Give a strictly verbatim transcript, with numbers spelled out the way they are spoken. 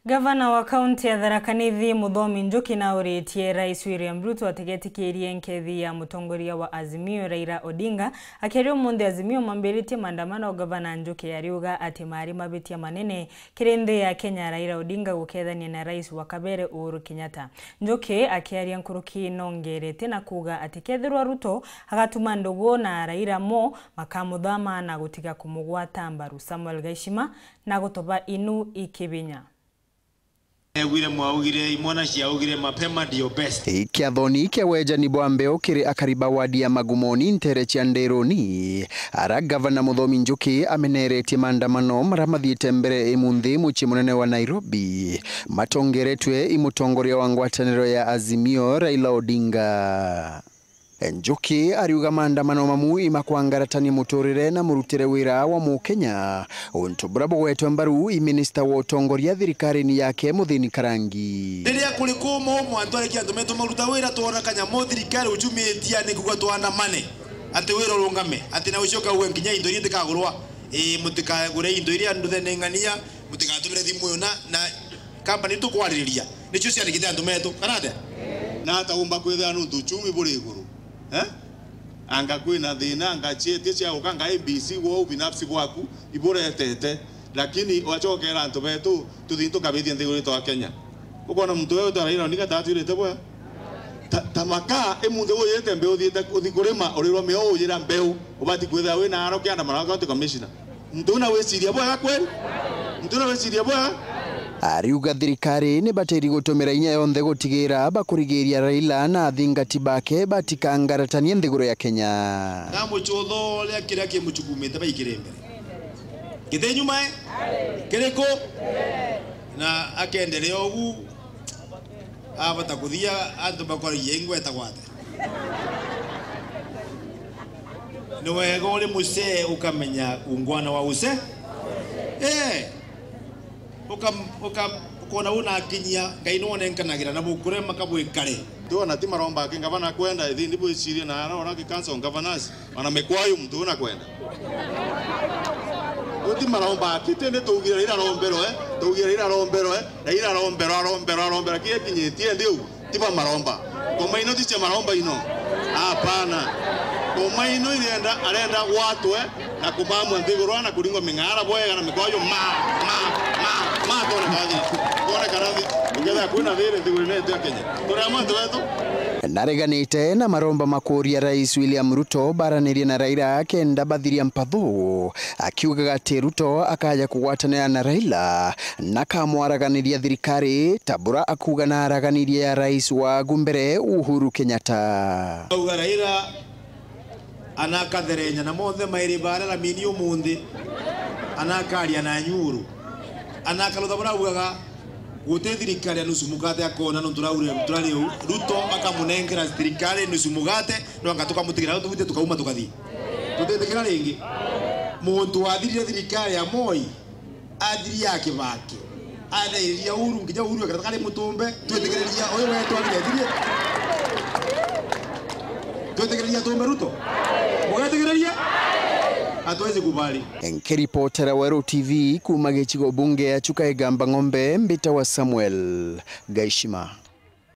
Gavana wa kaunti ya Tharaka Nithi, Muthomi Njuki, nauritie Rais William Ruto atigetikirie nkethi ya mutongoria wa Azimio, Raila Odinga, akiaria umunthi Azimio mambiritie maandamano. Gavana Njuki ariuga ati mari mabitia manene kiri nthi ya Kenya Raila Odinga gukethania na rais wa kabere Uhuru Kenyatta. Njuki akiaria nkuruki nongerete na kuuga ati kethirwa Ruto agatuma ndugu na Raila mo, makamuthama na gutiga kumugwata mbaru. Samuel Gaishima na gutoba inu ikibinya. Egwire mwaugire, imwana ciaugire, mapema ndio best. Kiathoni kia wejani bwa mbeo kiri akari ba wadi ya Magumoni ntere cia Nderoni, ara Gavana Muthomi Njuki ameneretie maandamano mara mathiite mbere imunthi mucii munene wa Nairobi, matongeretwe i mutongoria wa ngwataniro ya Azimio, Raila Odinga. Njuki ariuga maandamano mamu imakwangaratania muturire na murutire wira wa Mukenya, untu buria bugwetwe mbaru i minista wa utongoria thirikarine yake Muthini Karangi. Riria kuri kumu, mwantu arekia antu metu maruta wira, twona kanyamu thirikari uchumitia ni kuuga tuandamane, ati wira urungame, ati na ucio kauga nkinya into iria itikagurwa. Ii, mutikagure into iria nduthene ng'ania, mutigatumire thimu iyo na, na Kambani tukwariria nicio ciandikite antu metu, kana atia? Na ata umba kwithira nuntu uchumi buri iguru? Eh? Anga kwina thina, anga cietie cia guka, anga A B C gwo ubinafsi bwaku iburetete, lakini wacokera antu betu, tuthii tukabithia nthiguru yetu ya Kenya. Ukona muntu wewe utaraira ni gata atwirite bwega? Ta, ta maka, imunthi uyite mbeu uthiite, uthi kurima, urirwa mioo uyira mbeu, ubati kwithira wina aro kianda mara county commissioner. Muntu una wiciria bwega kweli? Muntu una wiciria bwega? Ariuga thirikari ni batiri gutumira inya yonthe gutigira bakurigiria Raila na athingati bake batikangaratanie nthiguru ya Kenya. Ngamucutha uria kiria kimuchukumite baikire mbere. Giti nyuma, eh? Kiriku? Na akendelea ugu, abata kuthia antu bakoragia ingweta gwate. Ni wega uri mucee ukamenya ungwana wa ucee. Eh. Uka, uka, ukona unakinyia, Ngai nwonenkanagira na bukurema kabwikare. Tuona ti maromba aki ngavana kwenda, ithi ndi bwicirie na ara ora ki council governors. Ona mikwayu muntu una kwenda. Uti maromba akite ni tuugire ira rombero, eh? Tuugire ira rombero, eh? Na ira rombero, arombero, arombero, kire kinyitie ndi u, tiba maromba. Koma ino tiche maromba ino. Hapana. Koma ino irenda, arenda gwatwe, na kubamwa nthiguru na kuringwa ming'ara bwega na mikwayu ma, ma, ma, ma, tone kathi. Tone karathi. Uketha kwina thiri nthiguru netu ya Kenya. Turi amwe antu betu. Nareganite na maromba makuria Rais William Ruto baranirie na Raila kenda bathiria mpathu, akiugaga ati Ruto akaja kugwatanira na Raila na kamwaraganiria thirikari, ta bura akuuga na araganirie ya rais wa agu mbere Uhuru Kenyatta. Auga Raila anakatherenya na monthe mairi baria ramini umunthi, anakaria na nyuru, anakarutha bura augaga. Guti thirikari ya nusu mukate akona nontu raure turari u, Ruto akamunenkera thirikari nusu mukate, no anga tukamutigira au tugite tukauma tukathi. Tutitikira ringi. Muntu wathirire thirikari ya Moi, athiria Kibaki, athairia Uhuru, nginya Uhuru akataka ari mutumbe, twitikiriria uyu wetu athire athirie. Twitikiriria tumbe Ruto? Mugetikiriria? Hatuwezi kubali. Nkiripotera Weru T V kuuma gicigo bunge ya Chuka Igamba Ng'ombe, mbita wa Samuel Gaishima.